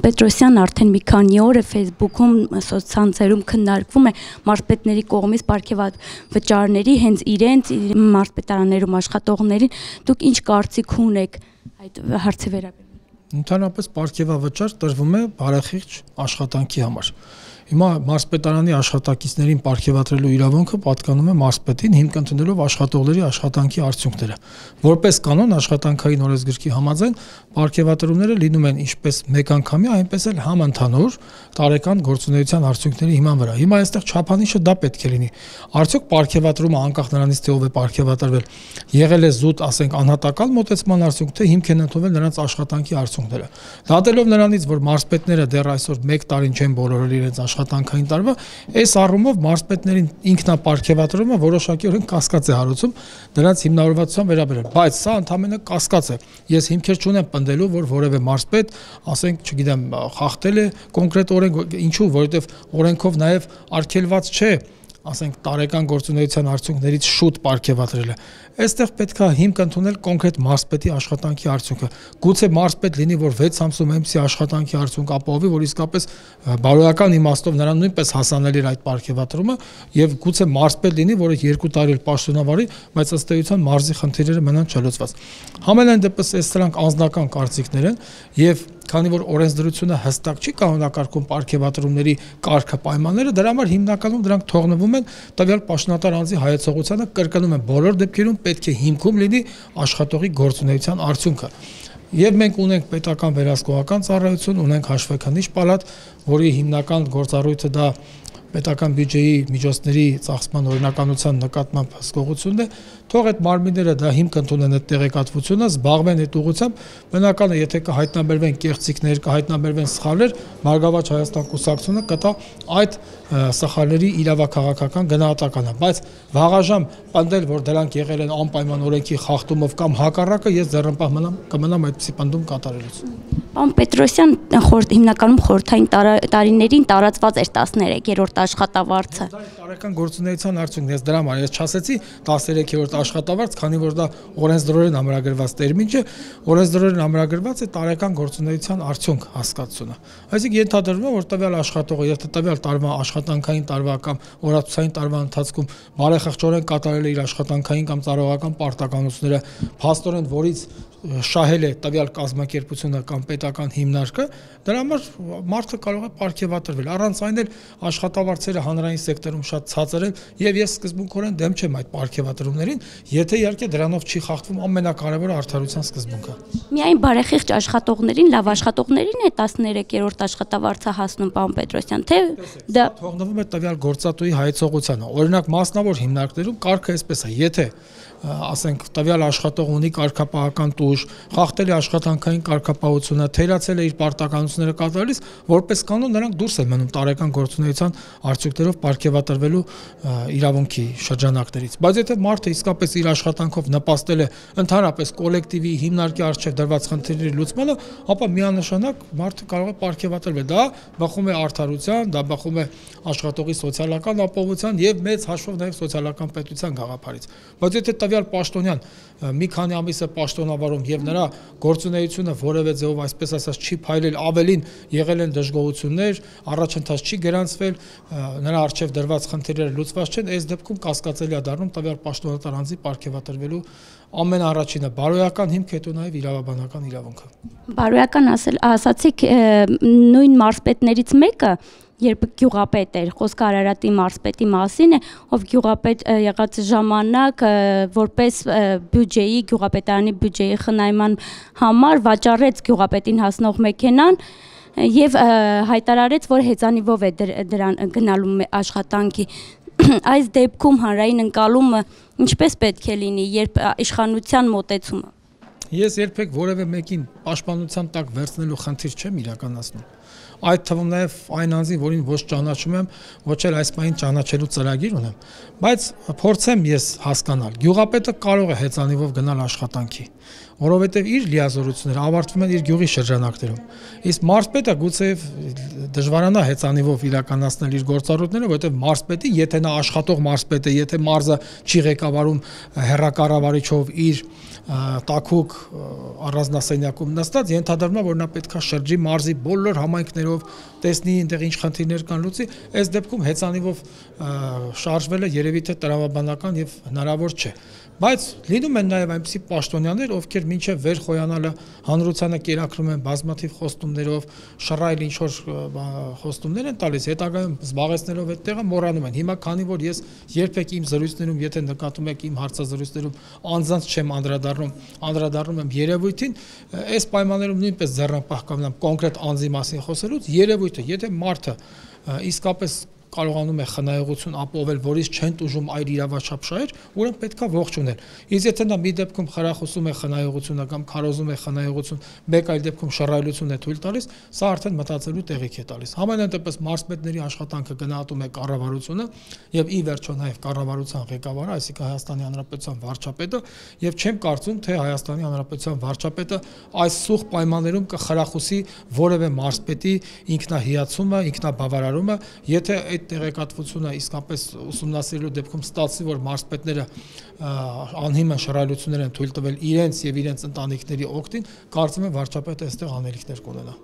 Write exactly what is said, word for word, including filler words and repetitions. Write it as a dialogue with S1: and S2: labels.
S1: Պետրոսյան արդեն մի քանի օր է Facebook-ում, սոցցանցերում քննարկվում է մարզպետների կողմից պարգևավճարների հենց իրենց մարզպետարաններում աշխատողներին։ Դուք ինչ կարծիք ունեք այդ հարցի վերաբերյալ։
S2: Ընդհանրապես պարգևավճար տրվում է բարեխիղճ աշխատանքի համար։ Հիմա մարզպետարանի աշխատակիցներին պարգևատրելու իրավունքը պատկանում է մարզպետին, հիմք ընդունելով աշխատողների աշխատանքի արդյունքները։ Որպես կանոն աշխատանքային օրենսգրքի համաձայն պարգևատրումները լինում են ինչպես մեկ անգամյա, այնպես էլ համընդհանուր տարեկան գործունեության արդյունքների հիման վրա։ Հիմա այստեղ չափանիշը դա պետք է լինի։ Արդյոք պարգևատրումը անկախ նրանից թե ով է պարգևատրվել, եղել է զուտ, ասենք, անհատական մոտեցման արդյունք, թե հիմք են ընդունվել նրանց աշխատանքի արդյունքները։ Դատելով նրանից, որ մարզպետները դեռ այսօր մեկ տարին չեն բոլորել իրենց աշխատանքային տարվա, այս առումով մարզպետներին ինքնապարգևատրումը որոշակիորեն կասկած է հարուցում դրանց հիմնավորվածության վերաբերյալ, բայց սա ընդհանրապես կասկած է։ Ես հիմքեր չունեմ պնդելու, որ որևէ մարզպետ, ասենք, չգիտեմ, խախտել է կոնկրետ օրենք, ինչու, որովհետև օրենքով նաև արգելված չէ, ասենք, տարեկան գործունեության արդյունքներից շուտ պարգևատրելը։ Այստեղ պետք է հիմք ընդունել կոնկրետ մարզպետի աշխատանքի արդյունքը։ Գուցե մարզպետ լինի, որ վեց ամսում այնպիսի աշխատանքի արդյունք ապահովի, որ իսկապես բարոյական իմաստով նրան նույնպես հասանելի էր այդ պարգևատրումը, եւ գուցե մարզպետ լինի, որը երկու տարի պաշտոնավարի, բայց ըստ էության մարզի խնդիրները մնան չլուծված։ Համենայն դեպս այս սրանք անձնական կարծիքներ են, եւ քանի որ օրենսդրությունը հստակ չի կանոնակարգում պարգևատրումների կարգը պայմանները, դրա համար հիմնականում դրանք թողնվում են տվյալ պաշտոնատար անձի հայեցողությանը, կրկնում են բոլոր դեպքերում պետք է հիմքում լինի աշխատողի գործունեության արդյունքը։ Եվ մենք ունենք պետական վերահսկողական ծառայություն, ունենք հաշվեկնիչ պալատ, որի հիմնական գործառույթը դա պետական բյուջեի միջոցների ծախսման օրինականության նկատմամբ հսկողությունն է, թող այդ մարմինները դա հիմք ընդունեն այդ տեղեկատվությունը, զբաղվեն այդ ուղղությամբ, բնական է, եթե կհայտնաբերվեն կեղծիքներ, կհայտնաբերվեն սխալներ, Մարգավաճ Հայաստան կուսակցությունը կտա այդ սխալների իրավաքաղաքական գնահատականը, բայց վաղաժամ պնդել, որ դրանք եղել են անպայման օրենքի խախտումով կամ հակառակը, ես ձեռնպահ կմնամ այդպիսի պնդում կատարելուց։
S1: Պարոն Պետրոսյան, հիմնականում խորհրդային տարիներին տարածված էր տասներեքերորդ աշխատավարձը։
S2: Տարեկան գործունեության արդյունքն է, դրա համար ես չասեցի տասներեքերորդ աշխատավարձ, քանի որ դա օրենսդրորեն ամրագրված տերմին չէ, օրենսդրորեն ամրագրված է տարեկան գործունեության արդյունք հասկացությունը։ Այսինքն ենթադրվում է, որ տվյալ աշխատողը, եթե տվյալ տարվա աշխատանքային տարվա կամ օրացուցային տարվա ընթացքում բարեխղճորեն կատարել է իր աշխատանքային կամ ծառայողական պարտականությունները, փաստորեն որից շահել է տվյալ կազմակերպությունը կամ պետական հիմնարկը, դրա համար մարդը կարող է պարգևատրվել։ Առանց այն էլ աշխատավարձերը հանրային սեկտորում շատ ցածր են, եւ ես սկզբունքորեն դեմ չեմ այդ պարգևատրումներին, եթե իհարկե դրանով չի խախտվում ամենակարևորը արդարության սկզբունքը։
S1: Միայն բարեխիղճ աշխատողներին, լավ աշխատողներին է տասներեքերորդ աշխատավարձը հասնում, պարոն Պետրոսյան, թե դա
S2: թողնվում է տվյալ գործատուի հայեցողությանը։ Օրինակ մասնավոր հիմնարկներում կարգը այսպես է, եթե ասենք տվյալ աշխատող ունի կարգապահական տուժ, խախտել է աշխատանքային կարգապահությունը, թերացել է իր պարտականությունները կատարելիս, որպես կանոն նրանք դուրս են մնում տարեկան գործունեության արդյունքներով պարգևատրվելու իրավունքի շրջանակներից։ Բայց եթե մարդը իսկապես իր աշխատանքով նպաստել է ընդհանրապես կոլեկտիվի հիմնարկի առջև դրված խնդիրների լուծմանը, ապա միանշանակ մարդը կարող է պարգևատրվել։ Դա բխում է արդարության, դա բխում է աշխատողի սոցիալական ապահովության եւ մեծ հաշվով նաեւ սոցիալական պետության գաղափարից։ Բայց եթե տվյալ պաշտոնյան մի քանի ամիս է պաշտոնավարում եւ նրա գործունեությունը որևէ ձեւով այսպես ասած չի փայլել, ավելին եղել են դժգոհություններ, առաջընթաց չի գրանցվել, նրա առջև դրված խնդիրները լուծված չեն, այս դեպքում կասկածելի է դառնում տվյալ պաշտոնատար անձի պարգևատրվելու ամենաառաջինը բարոյական հիմք, հետո նաեւ իրավաբանական իրավունքը։
S1: Բարոյական ասել, ասացիք նույն մարզպետներից մեկը երբ գյուղապետ էր, խոսքը Արարատի մարզպետի մասին է, ով գյուղապետ եղած ժամանակ որպես բյուջեի, գյուղապետարանի բյուջեի խնայման համար վաճառեց գյուղապետին հասնող մեքենան եւ հայտարարեց, որ հեծանիվով է դրան գնալու աշխատանքի։ Այս դեպքում հանրային ընկալումը ինչպես պետք է լինի, երբ իշխանության մոտեցումը։
S2: Ես երբեք որևէ մեկին պաշտպանության տակ վերցնելու խնդիր չեմ իրականացնում։ այդ թվում նաև այն անձին, որին ոչ ճանաչում եմ, ոչ էլ այս պահին ճանաչելու ծրագիր ունեմ, բայց փորձեմ ես հասկանալ, գյուղապետը կարող է հեծանիվով գնալ աշխատանքի, որովհետև իր լիազորությունները ավարտվում են իր գյուղի շրջանակներում։ Իսկ մարզպետը գուցե դժվարանա հեծանիվով իրականացնել իր գործառույթները, որովհետև մարզպետի, եթե նա աշխատող մարզպետ է, եթե մարզը չի ղեկավարում հեռակառավարիչով իր տաքուկ առանձնասենյակում նստած, ենթադրվում է, որ նա պետք է շրջի մարզի բոլոր համայնքներով, տեսնի այնտեղ ինչ խնդիրներ կան, լուծի, այս դեպքում հեծանիվով շարժվելը երևի թե տրամաբանական եւ հնարավոր չէ։ Բայց լինում են նաև այնպիսի պաշտոնյաներ, ովքեր մինչև վեր խոյանալը հանրությանը կերակրում են բազմաթիվ խոստումներով, շռայլ ինչ-որ խոստումներ են տալիս, հետագայում զբաղեցնելով այդ տեղը մոռանում են։ Հիմա քանի որ ես երբեք իմ զրույցներում, եթե նկատում եք իմ հարցազրույցներում անձանց չեմ անդրադառնում, անդրադառնում եմ երևույթին, այս պայմաններում նույնպես ձեռնապահ կմնամ կոնկրետ անձի մասին խոսելուց, երևույթը, եթե մարդը իսկապես կարողանում է խնայողություն ապահովել, որից չեն տուժում այլ իրավաչափ շահեր, ուրեմն պետքա ողջունել։ Իսկ եթե նա մի դեպքում խրախուսում է խնայողությունը կամ քարոզում է խնայողություն, մեկ այլ դեպքում շռայլություն է թույլ տալիս, սա արդեն մտածելու տեղիք է տալիս։ Համենայն դեպս մարզպետների աշխատանքը գնահատում է կառավարությունը եւ ի վերջո նաեւ կառավարության ղեկավարը, այսինքն Հայաստանի Հանրապետության վարչապետը, եւ չեմ կարծում, թե Հայաստանի Հանրապետության վարչապետը այս սուղ պայմաններում կխրախուսի որևէ մարզպետի ինքնահիացումը, ինքնաբավարարումը, եթե այդ տեղեկատվությունը իսկապես ուսումնասիրելու դեպքում ստացվի, որ մարզպետները անհիմն շռայլություններ են թույլ տվել իրենց եւ իրենց ընտանիքների օգտին, կարծում եմ վարչապետը այստեղ անելիքներ կունենա։